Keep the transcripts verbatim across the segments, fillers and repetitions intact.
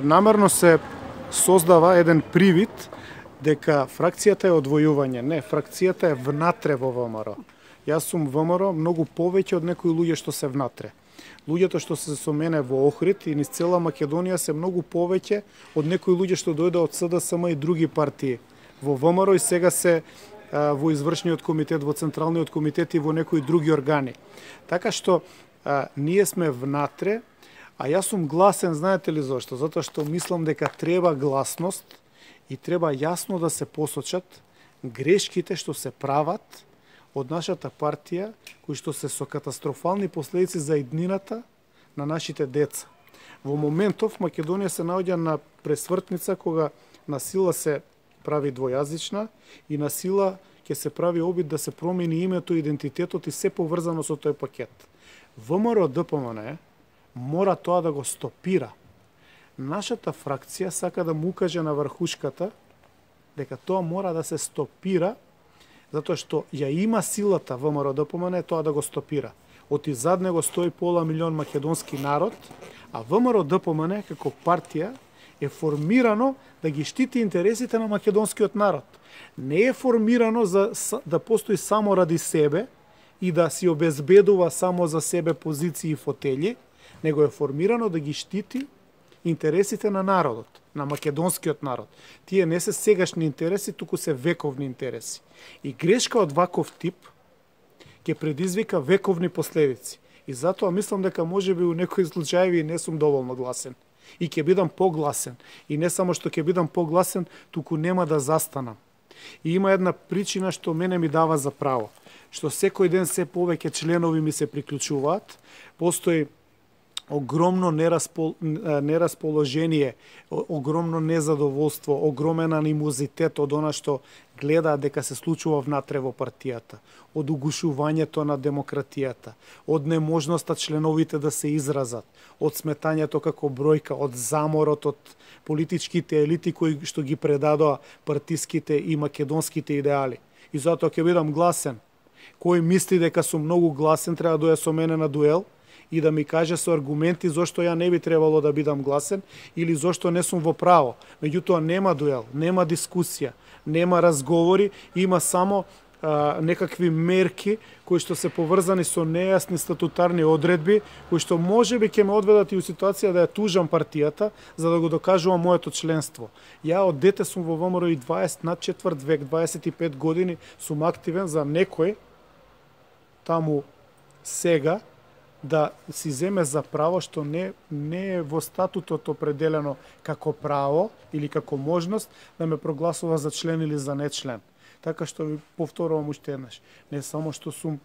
Намерно се создава еден привид дека фракцијата е одвојување. Не, фракцијата е внатре во ВМРО. Јас сум ВМРО многу повеќе од некои луѓе што се внатре. Луѓето што се со мене во Охрид и низ цела Македонија се многу повеќе од некои луѓе што дојде од СДСМ и други партии во ВМРО и сега се а, во извршниот комитет, во централниот комитет и во некои други органи. Така што а, ние сме внатре, а јас сум гласен, знаете ли зашто? Затоа што мислам дека треба гласност и треба јасно да се посочат грешките што се прават од нашата партија, кои што се со катастрофални последици за иднината на нашите деца. Во моментов Македонија се наоѓа на пресвртница кога на сила се прави двојазична и на сила ќе се прави обид да се промени името, идентитетот и се поврзано со тој пакет. ВМРО-ДПМН мора тоа да го стопира. Нашата фракција сака да му каже на врхушката дека тоа мора да се стопира, затоа што ја има силата ВМРО-ДПМН тоа да го стопира. Оти зад него стои пола милион македонски народ, а ВМРО-ДПМН како партија е формирано да ги штити интересите на македонскиот народ. Не е формирано за да постои само ради себе и да си обезбедува само за себе позиции и фотели, него е формирано да ги штити интересите на народот, на македонскиот народ. Тие не се сегашни интереси, туку се вековни интереси. И грешка од ваков тип ќе предизвика вековни последици. И затоа мислам дека можеби у некои случаеви не сум доволно гласен. И ќе бидам погласен. И не само што ќе бидам погласен, туку нема да застанам. И има една причина што мене ми дава за право. Што секој ден се повеќе членови ми се приклучуваат, постои огромно нераспол... нерасположение, огромно незадоволство, огромен анимозитет од она што гледаат дека се случува внатре во партијата, од угушувањето на демократијата, од неможноста членовите да се изразат, од сметањето како бројка, од заморот од политичките елити кои што ги предадоа партиските и македонските идеали. И затоа ќе бидам гласен. Кој мисли дека сум многу гласен, треба да дојде со мене на дуел и да ми каже со аргументи зошто ја не би требало да бидам гласен или зошто не сум во право. Меѓутоа нема дуел, нема дискусија, нема разговори, има само а, некакви мерки кои што се поврзани со нејасни статутарни одредби, кои што можеби ќе ме одведат и у ситуација да ја тужам партијата за да го докажувам моето членство. Ја од дете сум во ВМРО и дваесет над четврт век, дваесет и пет години сум активен за некој таму сега да си земе за право што не, не е во статутот определено како право или како можност да ме прогласува за член или за не член. Така што ви повторувам уште еднаш. Не само што сум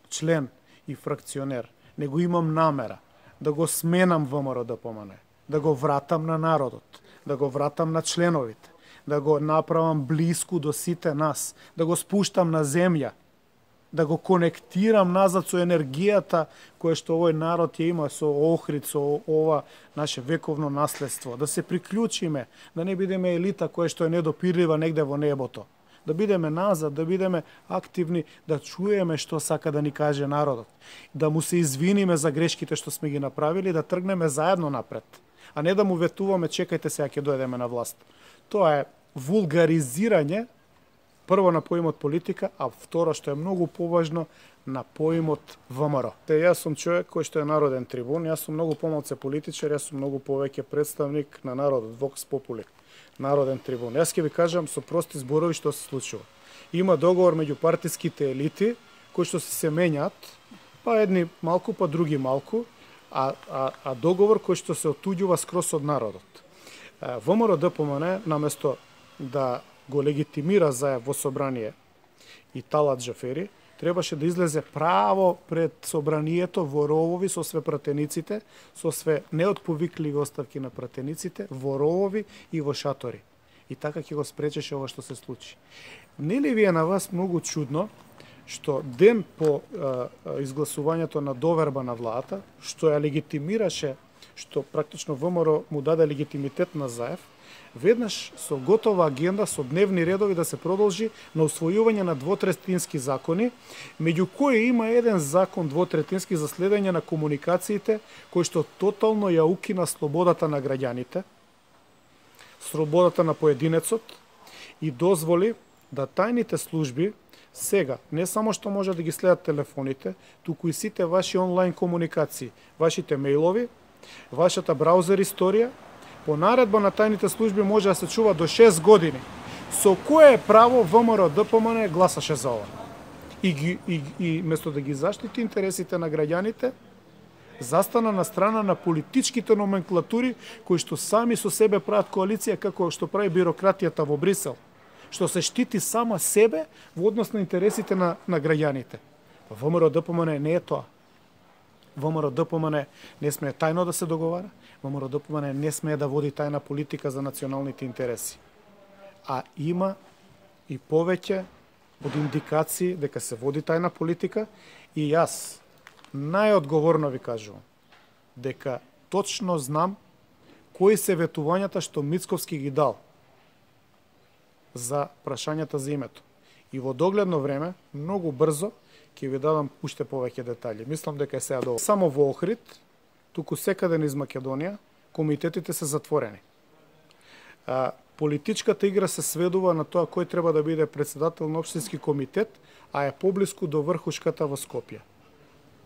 член и фракционер, него имам намера да го сменам ВМРО-ДПМН, да го вратам на народот, да го вратам на членовите, да го направам блиску до сите нас, да го спуштам на земја, да го конектирам назад со енергијата која што овој народ ја има со Охрид, со ова наше вековно наследство, да се приклучиме, да не бидеме елита која што е недопирлива негде во небото, да бидеме назад, да бидеме активни, да чуеме што сака да ни каже народот, да му се извиниме за грешките што сме ги направили, да тргнеме заедно напред, а не да му ветуваме чекајте сега ќе дојдеме на власт. Тоа е вулгаризирање прво на поимот политика, а второ што е многу поважно на поимот ВМРО. Те јас сум човек кој што е народен трибун, јас сум многу помалце политичар, јас сум многу повеќе представник на народот, Vox Populi, народен трибун. Јас ќе ви кажам со прости зборови што се случува. Има договор меѓу партиските елити кои што се менјаат, па едни малку, па други малку, а, а, а договор кој што се отуѓува скрос од народот. ВМРО-ДПМН наместо да го легитимира заев во собрание и Талат Џафери, требаше да излезе право пред собранието во ровови со све пратениците, со све неотповикливи оставки на пратениците, во ровови и во шатори. И така ќе го спречеше ова што се случи. Нели ви е на вас многу чудно што ден по а, изгласувањето на доверба на владата, што ја легитимираше, што практично ВМРО му даде легитимитет на заев, веднаш со готова агенда, со дневни редови да се продолжи на усвојување на двотретински закони, меѓу кои има еден закон двотретински за следење на комуникациите, кој што тотално ја укина слободата на граѓаните, слободата на поединецот и дозволи да тајните служби сега не само што може да ги следат телефоните, туку и сите ваши онлайн комуникации, вашите мејлови, вашата браузер историја, по наредба на тајните служби може да се чува до шест години. Со кое право ВМРО Д П М Н гласаше за ова? И, ги, и, и место да ги заштити интересите на граѓаните, застана на страна на политичките номенклатури кои што сами со себе прават коалиција како што прави бирократијата во Брисел, што се штити сама себе во однос на интересите на, на граѓаните. ВМРО Д П М Н не е тоа. ВМРО Д П М Н не смее тајно да се договара, ВМРО Д П М Н не смее да води тајна политика за националните интереси. А има и повеќе од индикации дека се води тајна политика и јас најодговорно ви кажувам дека точно знам кои се ветувањата што Мицковски ги дал за прашањата за името. И во догледно време, многу брзо, ќе ви дадам уште повеќе детали. Мислам дека е сега доволно. Само во Охрид, туку секаде низ Македонија, комитетите се затворени. А, политичката игра се сведува на тоа кој треба да биде председател на општински комитет, а е поблиску до врхушката во Скопје.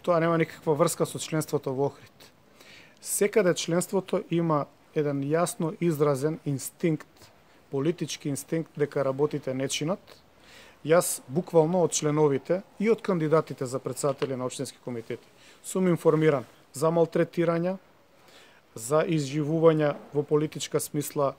Тоа нема никаква врска со членството во Охрид. Секаде членството има еден јасно изразен инстинкт, политички инстинкт дека работите не чинат. Јас буквално од членовите и од кандидатите за председатели на општински комитети сум информиран за малтретирања, за изживувања во политичка смисла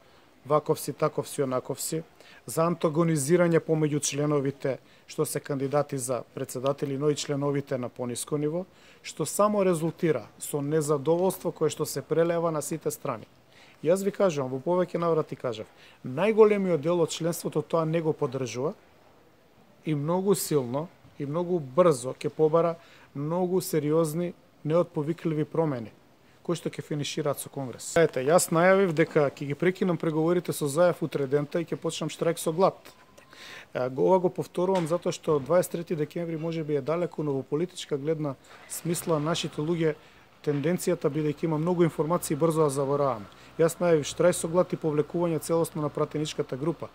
ваковси, таковси, онаковси, за антагонизирање помеѓу членовите што се кандидати за председатели, но и членовите на пониско ниво, што само резултира со незадоволство кое што се прелева на сите страни. Јас ви кажувам, во повеќе наврати кажав, најголемиот дел од членството тоа не го поддржува и многу силно и многу брзо ќе побара многу сериозни, неотповикливи промени, кои што ќе финишираат со Конгрес. Ете, јас најавив дека ќе ги прекинам преговорите со Заев утре дента и ќе почнам штрајк со глад. Ова го повторувам затоа што дваесет и трети декември може би е далеко, но во политичка гледна смисла нашите луѓе тенденцијата бидејќи има многу информации брзо да забораваме. Јас најавив штрајк со глад и повлекување целосно на пратеничката група.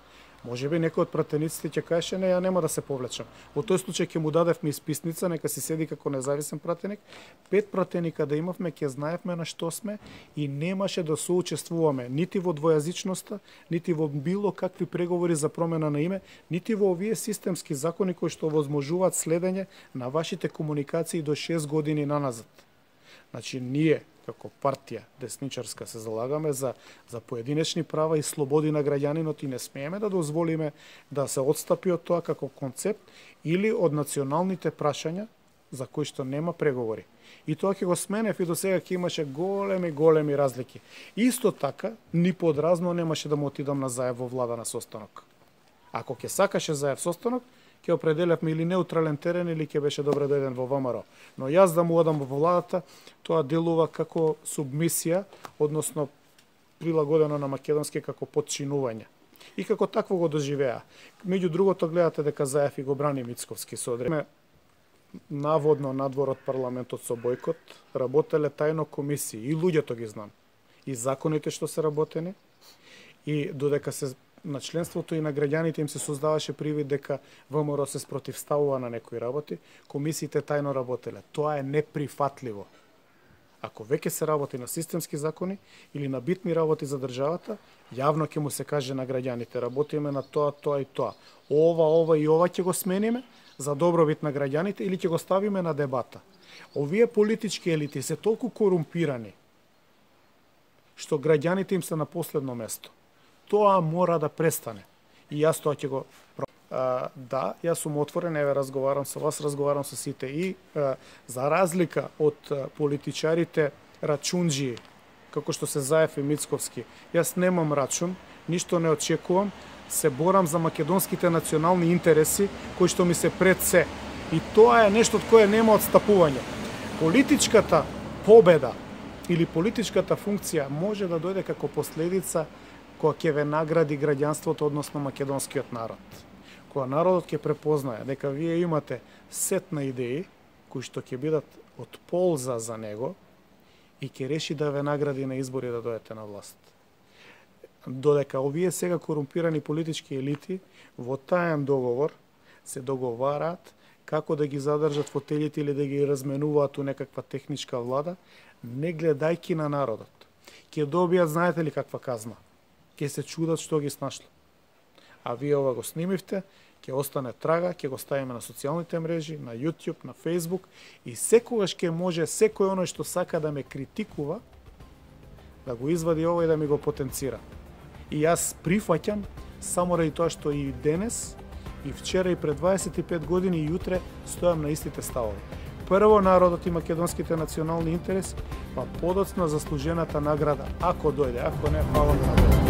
Може би некој од пратениците ќе каже не, ја нема да се повлечам. Во тој случај ќе му дадевме исписница, нека си седи како независен пратеник. Пет пратеника да имавме, ќе знаевме на што сме и немаше да соучествуваме нити во двојазичноста, нити во било какви преговори за промена на име, нити во овие системски закони кои што возможуваат следење на вашите комуникации до шест години наназад. Значи, ние, како партија десничарска, се залагаме за, за поединечни права и слободи на граѓанинот и не смееме да дозволиме да се отстапи од тоа како концепт или од националните прашања за кои што нема преговори. И тоа ќе го сменев и до сега ќе имаше големи, големи разлики. Исто така, ни подразно немаше да му отидам на Заев во влада на состанок. Ако ќе сакаше Заев состанок, ќе определевме или неутрален терен или ќе беше добре дојден во ВМРО. Но јас да му одам во владата, тоа делува како субмисија, односно прилагодено на македонски како подчинување. И како такво го доживеа. Меѓу другото гледате дека Заев и го брани Мицковски со одредбе. Наводно надвор од парламентот со бојкот работеле тајно комисии и луѓето ги знам. И законите што се работени и додека се на членството и на граѓаните им се создаваше привид дека ВМРО се спротивставува на некои работи, комисиите тајно работеле. Тоа е неприфатливо. Ако веќе се работи на системски закони или на битни работи за државата, јавно ќе му се каже на граѓаните, работиме на тоа, тоа и тоа. Ова, ова и ова ќе го смениме за добробит на граѓаните или ќе го ставиме на дебата. Овие политички елити се толку корумпирани што граѓаните им се на последно место. Тоа мора да престане. И јас тоа ќе го а, да, јас сум отворен, еве разговарам со вас, разговарам со сите и а, за разлика од а, политичарите рачунџи, како што се Заев и Мицковски, јас немам рачун, ништо не очекувам, се борам за македонските национални интереси кои што ми се пред се. И тоа е нешто од кое нема отстапување. Политичката победа или политичката функција може да дојде како последица кога ќе ве награди граѓанството, односно македонскиот народ. Кога народот ќе препознае дека вие имате сет на идеи кои што ќе бидат од полза за него и ќе реши да ве награди на избори да дојдете на власт. Додека овие сега корумпирани политички елити во таен договор се договараат како да ги задржат фотелите или да ги разменуваат у некаква техничка влада, не гледајки на народот. Ќе добијат, знаете ли каква казна? Ќе се чудат што ги снашло. А вие ова го снимивте, ќе остане трага, ќе го ставиме на социјалните мрежи, на YouTube, на Facebook и секогаш ќе може секој оној што сака да ме критикува да го извади ова и да ми го потенцира. И јас прифаќам само ради тоа што и денес, и вчера, и пред дваесет и пет години, и јутре стојам на истите ставови. Прво народот и македонските национални интереси, па подоцна заслужената награда, ако дојде, ако не, фала на народот.